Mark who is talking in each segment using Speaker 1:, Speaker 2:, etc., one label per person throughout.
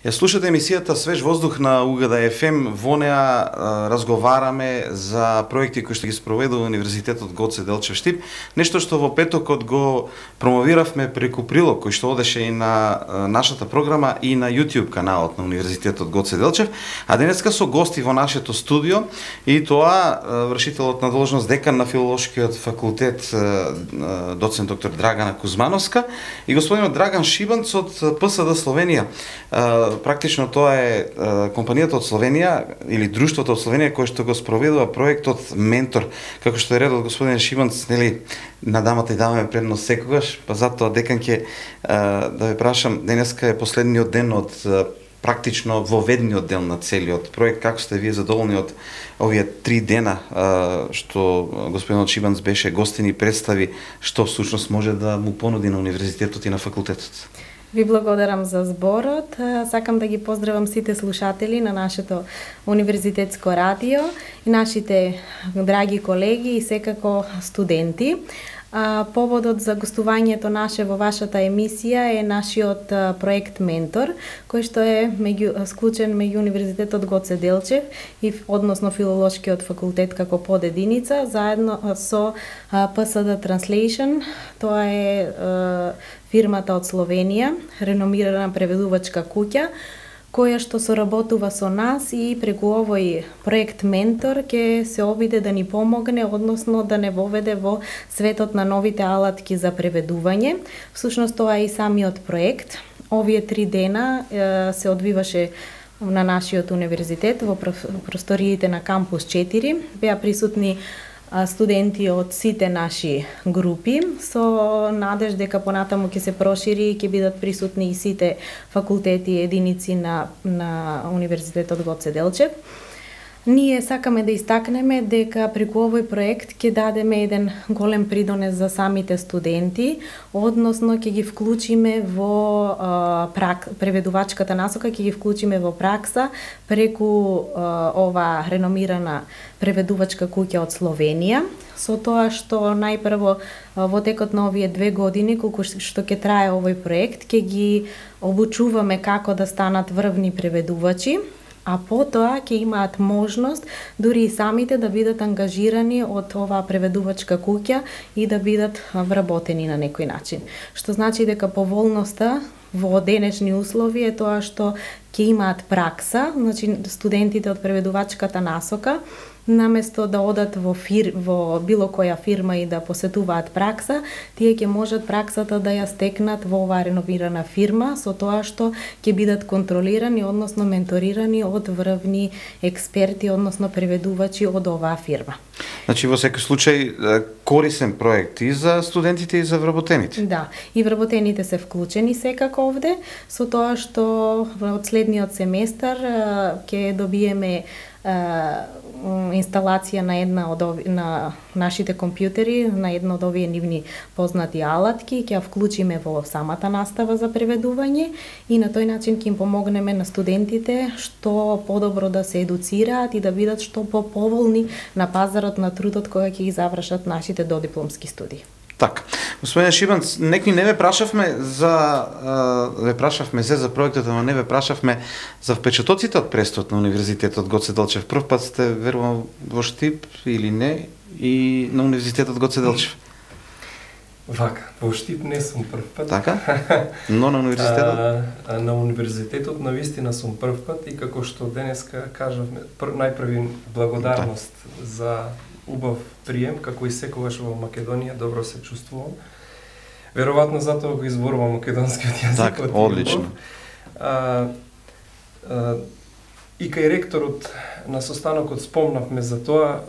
Speaker 1: Ја слушате емисијата Свеж воздух на УГД ФМ. Во неа разговараме за проекти кои што ги спроведува Универзитетот Гоце Делчев Штип. Нешто што во петокот го промовиравме преку прилог кој што одеше и на нашата програма и на YouTube каналот на Универзитетот Гоце Делчев. А денеска со гости во нашето студио и тоа вршителот на должност декан на Филолошкиот факултет доцент доктор Драгана Кузмановска и господинот Драган Шибанц од ПСД Словенија. Практично тоа е компанијата од Словенија или друштвото од Словенија кој што го спроведува проектот Ментор. Како што е редот господин Шибанц, нели, на дамата и даваме предност секогаш, па затоа декан ќе да ве прашам, денеска е последниот ден од практично воведниот дел на целиот проект. Како сте вие задоволни од овие 3 дена што господинот Шибанц беше гостин и представи што всушност може да му понуди на универзитетот и на факултетот?
Speaker 2: Ви благодарам за зборот. Сакам да ги поздравам сите слушатели на нашето универзитетско радио и нашите драги колеги и секако студенти. Поводот за гостувањето наше во вашата емисија е нашиот проект Ментор, кој што е склучен меѓу Универзитетот Гоце Делчев и односно Филолошкиот факултет како подединица, заедно со ПСД Translation. Тоа е фирмата од Словенија, реномирана преведувачка куќа, која што соработува со нас и преку овој проект Ментор ќе се обиде да ни помогне, односно да не воведе во светот на новите алатки за преведување. Всушност тоа е и самиот проект. Овие 3 дена се одвиваше на нашиот универзитет во просториите на кампус 4. Беа присутни студенти од сите наши групи, со надеж дека понатаму ќе се прошири и ќе бидат присутни и сите факултети и единици на Универзитетот Гоце Делчев. Ние сакаме да истакнеме дека преку овој проект ќе дадеме еден голем придонес за самите студенти, односно ќе ги вклучиме во преведувачката насока, ќе ги вклучиме во пракса преку ова реномирана преведувачка куќа од Словенија, со тоа што најпрво во текот на овие 2 години колку што ќе трае овој проект, ќе ги обучуваме како да станат врвни преведувачи, а потоа ќе имаат можност дури и самите да бидат ангажирани од оваа преведувачка куќа и да бидат вработени на некој начин. Што значи дека поволноста во денешни услови е тоа што ќе имаат пракса, значи студентите од преведувачката насока, наместо да одат во било која фирма и да посетуваат пракса, тие ќе можат праксата да ја стекнат во оваа реновирана фирма, со тоа што ќе бидат контролирани, односно менторирани од врвни експерти, односно преведувачи од оваа фирма.
Speaker 1: Значи во секој случај корисен проект и за студентите и за вработените.
Speaker 2: Да, и вработените се вклучени секако овде, со тоа што од следниот семестар ќе добиеме инсталација на една од на нашите компјутери, на една од овие нивни познати алатки, ќе ја вклучиме во самата настава за преведување и на тој начин ќе им помогнеме на студентите што подобро да се едуцираат и да бидат што поповолни на пазарот на трудот кога ќе ги завршат нашите додипломски студии.
Speaker 1: Така. Господин Шибанц, некои не ве прашавме за проектот, но не ве прашавме за впечатоците од престојот на Универзитетот Гоце Делчев. Прв пат сте верувам во Штип или не и на Универзитетот Гоце Делчев?
Speaker 3: Вака, во Штип не сум прв пат.
Speaker 1: Така? Но на универзитетот?
Speaker 3: На универзитетот навистина сум прв пат и како што денеска кажавме, најпрви благодарност за убав прием, како и секогаш во Македонија, добро се чувствувам. Веројатно затоа го изборувам македонскиот јазик.
Speaker 1: Так, одлично.
Speaker 3: И кај ректорот на состанокот спомнавме за тоа,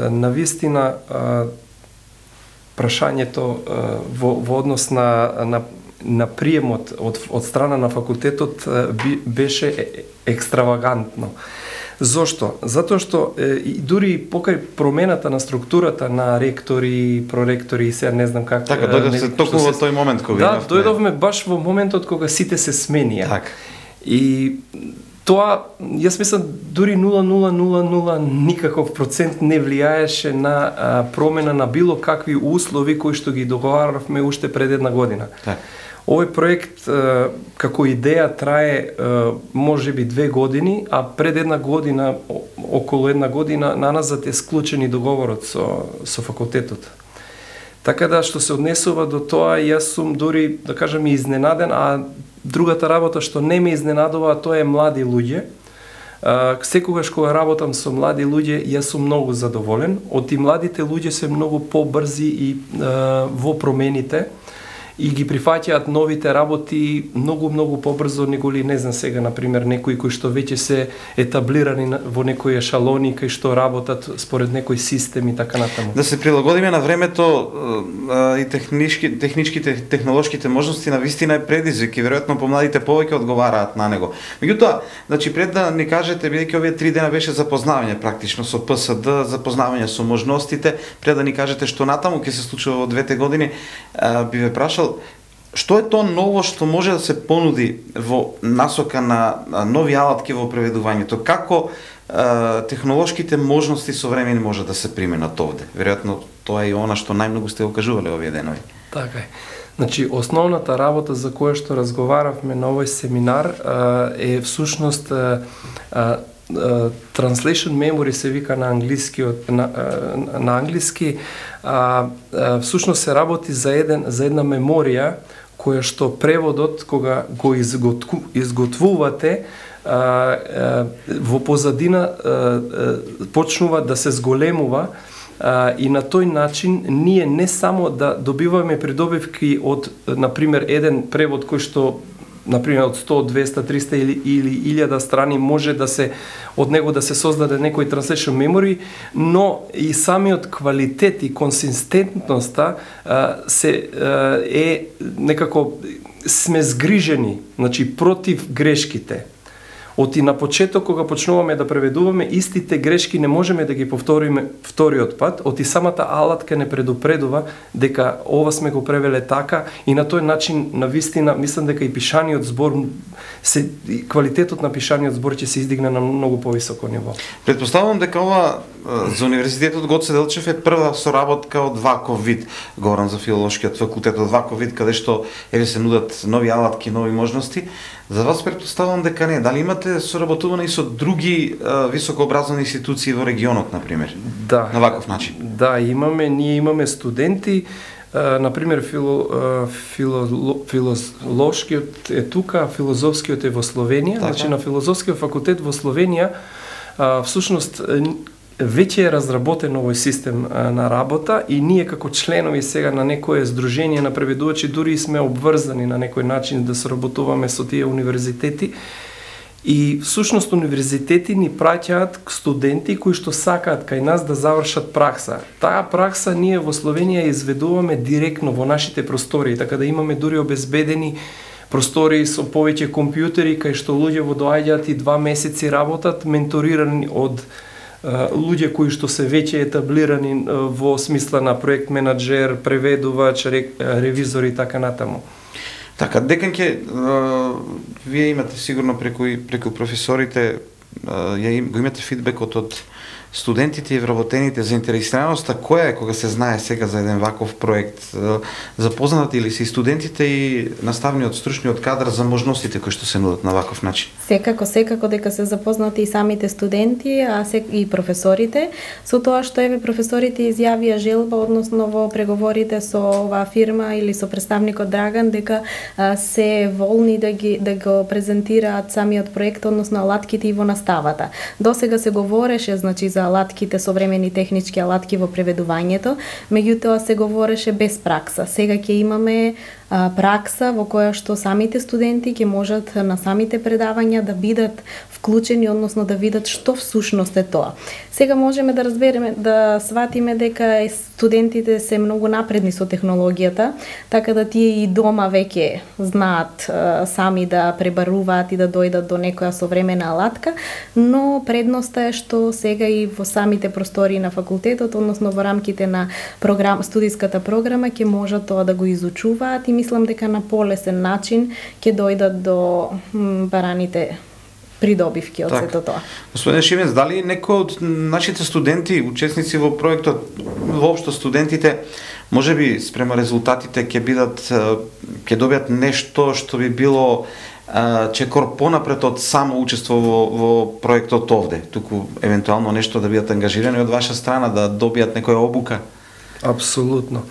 Speaker 3: навистина прашањето во однос на приемот од страна на факултетот беше екстравагантно. Зошто? Затоа што дури покрај промената на структурата на ректори, проректори и сега не знам как...
Speaker 1: Така, дојдовме токму во тој момент кога
Speaker 3: имавме... Да, дојдовме баш во моментот кога сите се сменија.
Speaker 1: Так.
Speaker 3: И тоа, јас мислам, дури 0,000 никаков процент не влијаеше на промена на било какви услови кои што ги договаравме уште пред една година.
Speaker 1: Так.
Speaker 3: Овој проект како идеја трае можеби 2 години, а пред една година, околу една година наназад е склучен и договорот со факултетот. Така да, што се однесува до тоа, јас сум дури, да кажам, изненаден, а другата работа што не ме изненадува, тоа е млади луѓе. Секогаш кога работам со млади луѓе, јас сум многу задоволен. Од и младите луѓе се многу побрзи и во промените и ги прифаќаат новите работи многу побрзо, неголи, не знам сега, например, некои кои што веќе се етаблирани во некои ешалони, кои што работат според некој систем и така натаму.
Speaker 1: Да се прилагодиме на времето и техничките, технолошките можности на вистина е предизвик и веројатно помладите повеќе одговараат на него. Меѓутоа, значи пред да ни кажете, бидејќи овие 3 дена беше запознавање практично со ПСД, запознавање со можностите, пред да ни кажете што натаму ќе се случува во 2 години, би ве прашал што е тоа ново што може да се понуди во насока на нови алатки во преведувањето? Како технолошките можности современи може да се применат овде? Веројатно тоа е и она што најмногу сте окажувале овие денови.
Speaker 3: Така е. Значи, основната работа за која што разговаравме на овој семинар е всушност translation memory се вика на англиски, на англиски, всушност се работи за една меморија која што преводот кога го изготвувате во позадина почнува да се зголемува и на тој начин ние не само да добиваме придобивки од, например, еден превод кој што например од 100, 200, 300 или 1000 страни може да се од него да се создаде некој translation memory, но и самиот квалитет и консистентноста се е некако сме згрижени, значи против грешките. Од и на почеток кога почнуваме да преведуваме, истите грешки не можеме да ги повториме вториот пат, од и самата алатка не предупредува дека ова сме го превеле така и на тој начин навистина мислам дека и пишаниот збор квалитетот на пишаниот збор ќе се издигне на многу повисоко ниво.
Speaker 1: Предпоставувам дека ова за Универзитетот Гоце Делчев е прва соработка од ваков вид, говорам за филолошкиот факултет, од ваков вид каде што се нудат нови алатки, нови можности. За вас предпоставувам дека не. Дали имате соработуване и со други високообразовни институции во регионот, например?
Speaker 3: Да.
Speaker 1: На ваков начин?
Speaker 3: Да, ние имаме студенти, например, филолошкиот е тука, филозофскиот е во Словенија. Така. Значи, на филозофскиот факултет во Словенија, всушност, веќе е разработен овој систем на работа и ние како членови сега на некое здружение на преведувачи дури сме обврзани на некој начин да соработуваме со тие универзитети. И всушност универзитети ни праќаат студенти кои што сакаат кај нас да завршат пракса. Таа пракса ние во Словенија изведуваме директно во нашите простории, така да имаме дури обезбедени простории со повеќе компјутери кај што луѓе доаѓаат и 2 месеци работат, менторирани од луѓе кои што се веќе етаблирани во смисла на проект менаџер, преведувач, ревизор и така натаму.
Speaker 1: Така, деканке, вие имате сигурно преку професорите, го имате фидбекот од студентите и вработените, заинтересираноста која е кога се знае сега за еден ваков проект? Запознати ли се и студентите и наставниот, стручниот кадар за можностите кои што се нудат на ваков начин?
Speaker 2: Секако дека се запознати и самите студенти, и професорите, со тоа што професорите изјавија желба, односно во преговорите со оваа фирма или со представникот Драган, дека се волни да го презентираат самиот проект, односно алатките и во наставата. Досега се говореше, значи, за алатките, современи технички алатки во преведувањето, меѓутоа се говореше без пракса. Сега ќе имаме пракса во која што самите студенти ќе можат на самите предавања да бидат вклучени, односно да видат што всушност е тоа. Сега можеме да разбереме, да сватиме дека студентите се многу напредни со технологијата, така да тие и дома веќе знаат сами да пребаруваат и да дојдат до некоја современа алатка, но предноста е што сега и во самите простории на факултетот, односно во рамките на студиската програма ќе можат тоа да го изучуваат и мислам дека на полесен начин ќе дојдат до бараните придобивки од сето тоа.
Speaker 1: Господин Шивенц, дали некој од нашите студенти, учесници во проектот, воопшто студентите, можеби спрема резултатите ќе добијат нешто што би било чекор понапред од само учество во проектот овде, туку евентуално нешто да бидат ангажирани од ваша страна, да добијат некоја обука?
Speaker 3: Апсолутно.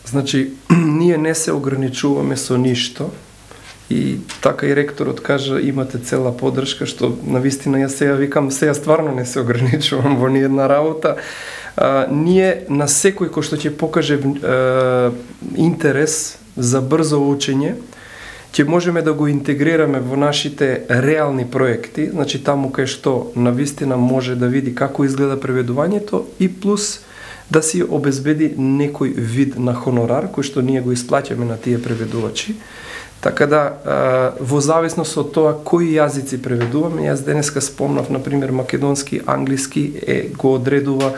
Speaker 3: Значи, ние не се ограничуваме со ништо и така и ректорот кажа имате цела поддршка, што навистина јас сега викам, сега стварно не се ограничувам во ниедна работа. Ние на секој кој што ќе покаже интерес за брзо учење, ќе можеме да го интегрираме во нашите реални проекти, значи таму кај што навистина може да види како изгледа преведувањето и плюс да си обезбеди некој вид на хонорар кој што ние го исплаќаме на тие преведувачи. Така да, во зависност од тоа кои јазици преведуваме, јас денеска спомнав, например, македонски, англиски го одредува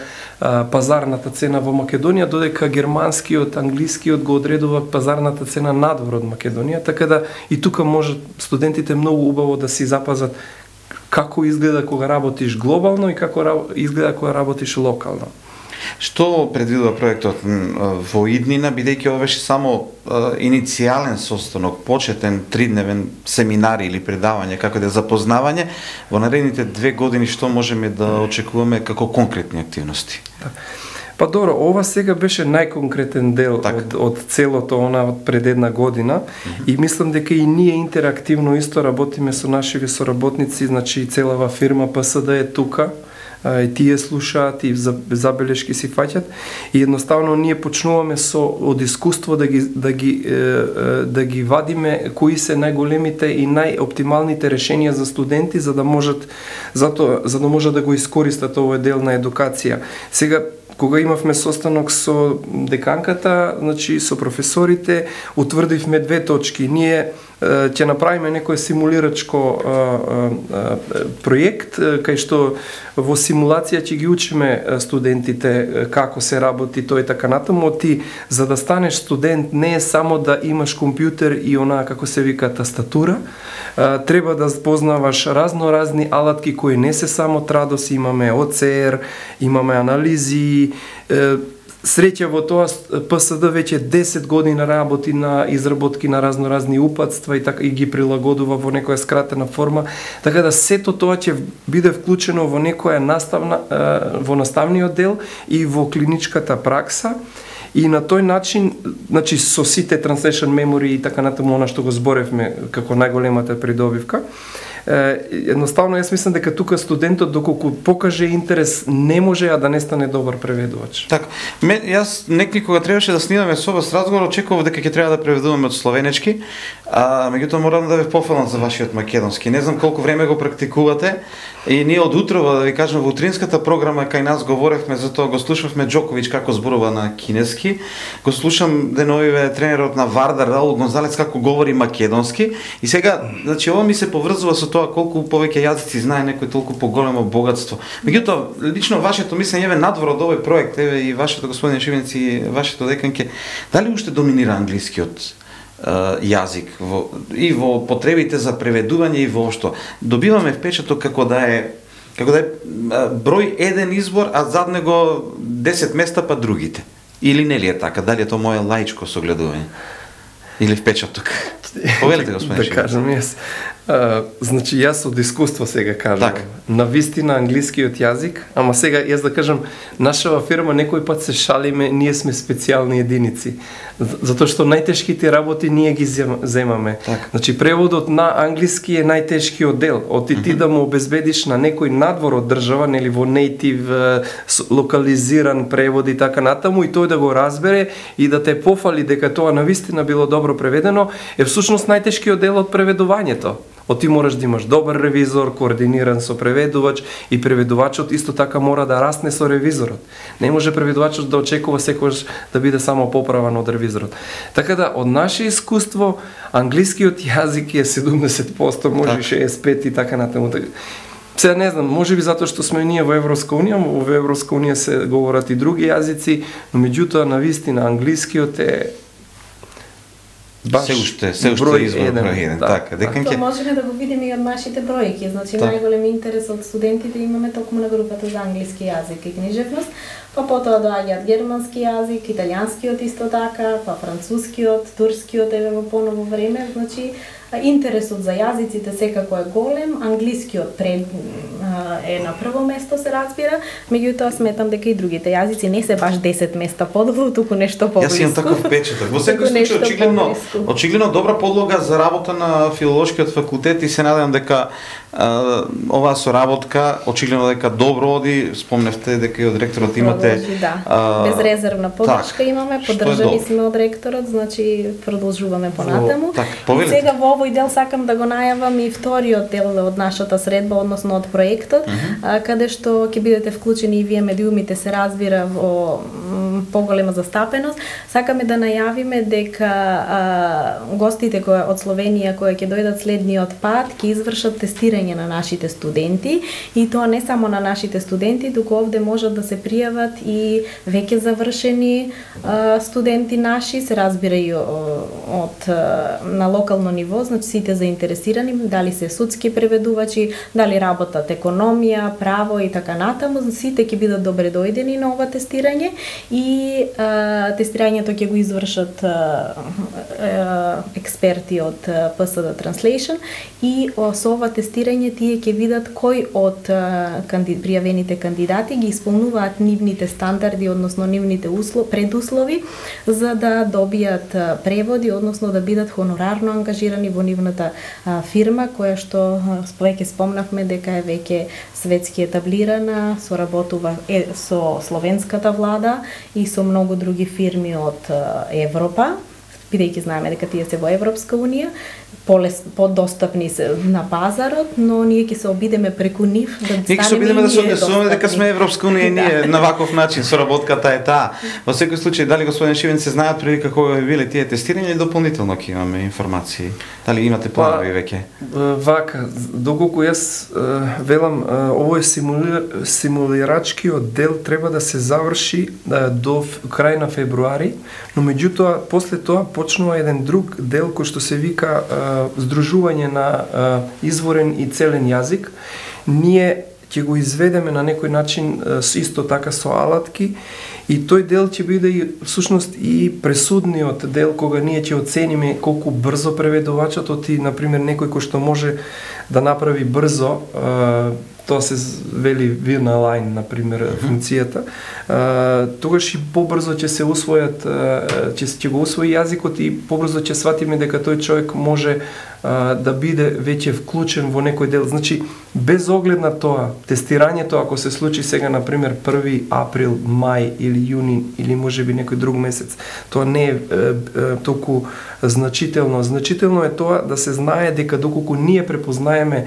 Speaker 3: пазарната цена во Македонија, додека германскиот, англискиот го одредува пазарната цена надвор од Македонија, така да и тука може студентите многу убаво да си запазат како изгледа кога работиш глобално и како изгледа кога работиш локално.
Speaker 1: Што предвидува проектот во иднина, бидејќи ова беше само иницијален состанок, почетен 3-дневен семинар или предавање, како да запознавање, во наредните 2 години што можеме да очекуваме како конкретни активности?
Speaker 3: Па добро, ова сега беше најконкретен дел од целото од пред 1 година и мислам дека и ние интерактивно исто работиме со нашите соработници, значи целава фирма ПСД е тука, и тие слушаат и забелешки си фаќат и едноставно ние почнуваме од искуство да ги вадиме кои се најголемите и најоптималните решенија за студенти за да можат да го искористат овој дел на едукација. Сега кога имавме состанок со деканката, значи со професорите, утврдивме 2 точки. Ние ќе направиме некој симулирачко проект, кај што во симулација ќе ги учиме студентите како се работи тој така натаму. Ти, за да станеш студент, не е само да имаш компјутер и онаа, како се вика, тастатура. Треба да познаваш разноразни алатки кои не се само традоси, имаме ОЦР, имаме анализи, среќа во тоа ПСД веќе 10 години работи на изработки на разноразни упатства и така и ги прилагодува во некоја скратена форма, така да сето тоа ќе биде вклучено во некоја во наставниот дел и во клиничката пракса. И на тој начин, значи со сите translation memory и така натаму она што го зборевме како најголемата придобивка, едноставно јас мислам дека тука студентот доколку покаже интерес не може да не стане добар преведувач.
Speaker 1: Така, јас некогаш требаше да снимаме со вас разговор, очекував дека ќе треба да преведуваме од словенечки, меѓутоа морам да ве пофалам за вашиот македонски. Не знам колку време го практикувате и ние од утрово, да ви кажам, во утринската програма кај нас говоревме за тоа, го слушавме Џоковиќ како зборува на кинески, го слушам деновиве тренерот на Вардар Раул Гонзалес како говори македонски и сега, значи ова ми се поврзува со тоа колку повеќе јазици знае некој, толку поголемо богатство. Меѓутоа, лично вашето мислење еве надвор од овој проект, еве и вашето господин Шивенци и вашето деканке, дали уште доминира англискиот јазик и во потребите за преведување и воопшто? Добиваме впечаток како да е број еден избор, а зад него 10 места па другите. Или не ли е така? Дали е тоа моје лаичко согледување? Или впечаток? Повелете, господин Шивенци.
Speaker 3: Да кажам јас. Значи јас од искуство сега кажам. Навистина англискиот јазик, ама сега јас да кажам, нашава фирма некој пат се шалиме, ние сме специјални единици. Затоа што најтешките работи ние ги земаме. Значи преводот на англиски е најтешкиот дел. Ти да му обезбедиш на некој надвор од држава, нели во нейтив локализиран превод и така натаму и тој да го разбере и да те пофали дека тоа навистина било добро преведено, е всушност најтешкиот дел од преведувањето. Ти мораш да имаш добар ревизор, координиран со преведувач и преведувачот исто така мора да расне со ревизорот. Не може преведувачот да очекува секогаш да биде само поправан од ревизорот. Така да, од наше искуство, англискиот јазик е 70%, може 65% и така натаму. Сега не знам, може би затоа што сме ние во Европска унија, во Европска унија се говорат и други јазици, но меѓутоа навистина англискиот е
Speaker 1: се уште избор број 1, така.
Speaker 2: Тоа можеме да го видиме и од нашите бројки. Значи најголем интерес од студентите имаме токму на групата за англиски јазик и книжевност, па потоа доаѓаат германски јазик, италијанскиот исто така, па францускиот, турскиот еве во поново време, значи интересот за јазиците секако е голем, англискиот е на прво место се разбира, меѓутоа сметам дека и другите јазици не се баш 10 места подолу, туку нешто поблиску.
Speaker 1: Јас имам таков впечаток. Во секој случај очигледно добра подлога за работа на филолошкиот факултет и се надевам дека оваа соработка очигледно дека добро оди, спомневте дека и од ректорот имате
Speaker 2: безрезервна поддршка имаме, поддржани сме од ректорот, значи продолжуваме понатаму. Сега во овој дел сакам да го најавам и вториот дел од нашата средба, односно од проектот, каде што ќе бидете вклучени и вие медиумите, се разбира, во поголема застапеност. Сакаме да најавиме дека гостите кои од Словенија кои ќе дојдат следниот пат ќе извршат тестирање на нашите студенти, и тоа не само на нашите студенти, туку овде можат да се пријават и веќе завршени студенти наши, се разбира и од на локално ниво, значи сите заинтересирани, дали се судски преведувачи, дали работат економија, право и така натаму, сите ќе бидат добре дојдени на ова тестирање, и тестирањето ќе го извршат експерти од PSD Translation, и со ова тестирање тие ќе видат кој од пријавените кандидати ги исполнуваат нивните стандарди, односно нивните предуслови за да добијат преводи, односно да бидат хонорарно ангажирани во нивната фирма, која што веќе спомнавме дека е веќе светски етаблирана, соработува со словенската влада и со многу други фирми од Европа, бидејќи знаеме дека тие се во Европска унија, подостапни се на пазарот, но ние ќе се обидеме преку нив да станеме.
Speaker 1: Ние ќе се обидеме да се однесуваме дека сме Европска унија, ние на ваков начин соработката е таа. Во секој случај, дали господин Шивен се знаат преди како биле тие тестирања или дополнително ќе имаме информации? Дали имате планови веќе?
Speaker 3: Вака, доколку јас велам, овој симулирачкиот дел треба да се заврши до крај на февруари, но меѓутоа после тоа почнува еден друг дел кој што се вика здружување на изворен и целен јазик. Ние ќе го изведеме на некој начин исто така со алатки, и тој дел ќе биде и всушност и пресудниот дел кога ние ќе оцениме колку брзо преведувачот и на пример некој кој што може да направи брзо, тоа се вели вирна лайн, на пример, функцијата, тогаш и побрзо ќе се усвојат, ќе го усвои јазикот и побрзо ќе сватиме дека тој човек може да биде веќе вклучен во некој дел. Значи, без оглед на тоа, тестирањето ако се случи сега, на пример, 1 април, мај или јуни, или можеби некој друг месец, тоа не е толку значително. Значително е тоа да се знае дека доколку ние препознаеме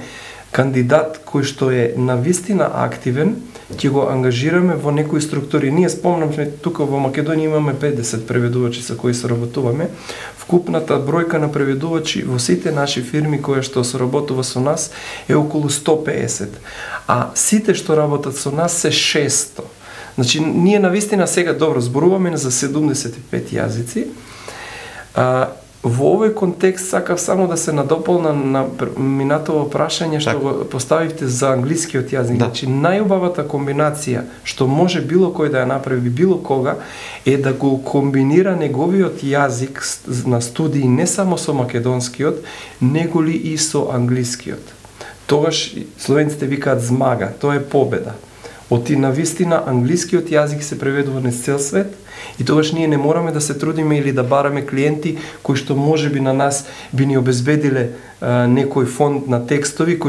Speaker 3: кандидат кој што е навистина активен, ќе го ангажираме во некои структури. Ние спомнавме, тука во Македонија имаме 50 преведувачи со кои соработуваме. Вкупната бројка на преведувачи во сите наши фирми кои што соработува со нас е околу 150, а сите што работат со нас се 600. Значи, ние навистина сега добро зборуваме за 75 јазици. Во овој контекст сакав само да се надополна на минатово прашање што го поставивте за англискиот јазик. Значи, најубавата комбинација што може било кој да ја направи било кога е да го комбинира неговиот јазик на студии не само со македонскиот, него ли и со англискиот. Тогаш словенците викаат змага, тоа е победа. Оти навистина англискиот јазик се преведува низ цел свет, и тогаш ние не мораме да се трудиме или да бараме клиенти кои што можеби на нас би ни обезбедиле некој фонд на текстови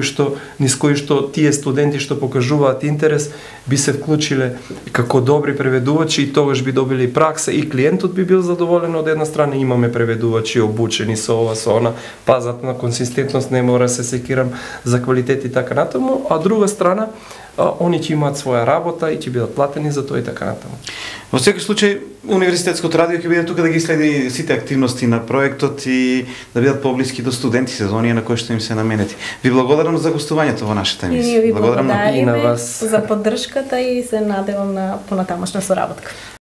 Speaker 3: низ кои што тие студенти што покажуваат интерес би се вклучиле како добри преведувачи, и тогаш би добили пракса и клиентот би бил задоволен. Од една страна имаме преведувачи обучени со ова, со она, пазат на консистентност, не мора се секирам за квалитет и така натаму, а друга страна они ќе имаат своја работа и ќе бидат платени за тоа и така натаму.
Speaker 1: Во секој случај, Универзитетското радио ќе биде тука да ги следи сите активности на проектот и да бидат поблиски до студенти сезонија на кои што им се наменети. Ви благодарам за гостувањето во нашата емисија.
Speaker 2: И ви благодариме за поддршката и се надевам на понатамошна соработка.